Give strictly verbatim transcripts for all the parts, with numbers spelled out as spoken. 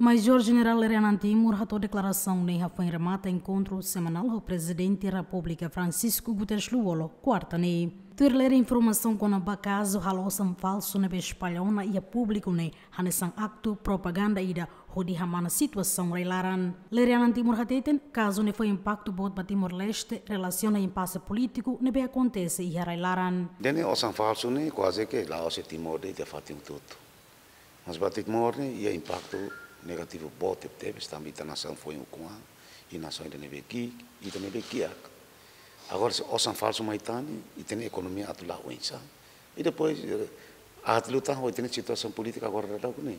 Major Jenerál Lere Anan Timur hato'o deklarasaun ne'e hafoin remata enkontru semanál ho Prezidente Repúblika Francisco Guterres Lú-Olo, kuarta ne'e. Tuir lere informasaun kona-ba kazu halo osan falsu ne'ebé espalla ona iha públiku ne'e, hanesan aktu propaganda ida hodi hamana situasaun rai-laran. Lere Anan Timur hateten, kazu ne'e fó impaktu boot ba Timor-Leste, relasiona impasse polítiku ne'ebé akontese iha rai-laran. Ida-ne'e osan falsu ne'e kuaze ke la'ós iha Timor de'it, iha fatin hotu-hotu. Mas ba Timor ne'e iha impaktu negativu boot tebetebes, tanba ita nasaun foin ukun-an, i nasaun ida ne'ebé ki'ik, ita ne'ebé kiak. Agora se osan falsu mai tan ne'e, ita-nia ekonomia atu la'o oinsá. I depois, eh, atu liután ho ita-nia situasaun polítika agora daudaun ne'e.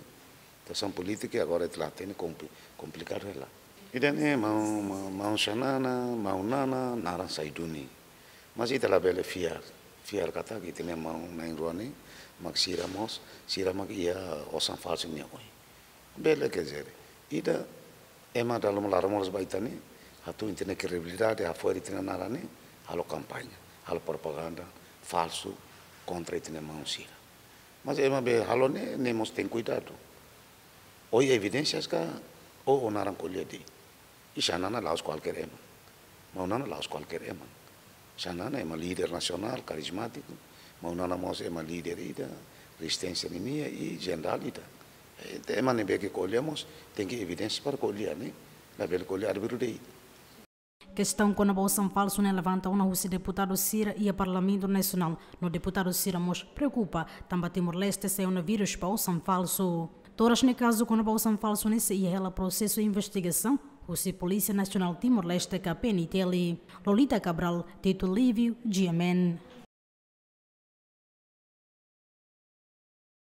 Situasaun polítika agora ita la hatene, kompli-, komplikadu hela. Ida-ne'e maun, maun, maun Xanana, maun Nana, naran sai duni. Mas ita labele fiar, fiar katak ita-nia maun na'in-rua ne'e, mak sira mós, sira mak iha osan falsu nia oin. Bele ke jere. Ida ema dala ruma laran moras ba ita ne'e, atu ita-nia kredibilidade, hafo'er ita-nia naran ne'e, halo kampaña, halo propaganda falsu kontra ita-nia maun sira. Mas ema be halo ne'e, ne'e mós tenke kuidadu. Ó iha evidénsias ka, ó, ó naran ko'alia de'it. I Xanana la'ós kualkér ema. Maun Nana la'ós kualkér ema. Xanana ema líder nasionál, karizmátiku. Maun Nana mós ema líder ida, rezisténsia ninia i jenerál ida. Eh, ema ne'ebé ke ko'alia mós, tenke evidénsia para ko'alia ne'e. Labele ko'alia arbiru de'it. Kestaun kona-ba osan falsu ne'e levanta ona husi deputadu sira iha Parlamentu Nasionál, no deputadu sira mós preokupa, tanba Timor-Leste sai ona vírus ba osan falsu. Toras ne'e kazu kona-ba osan falsu ne'e sei iha hela prosesu investigasaun husi Polísia Nasionál Timor-Leste ka P N T L. Lolita Cabral, Tito Livio, G M N.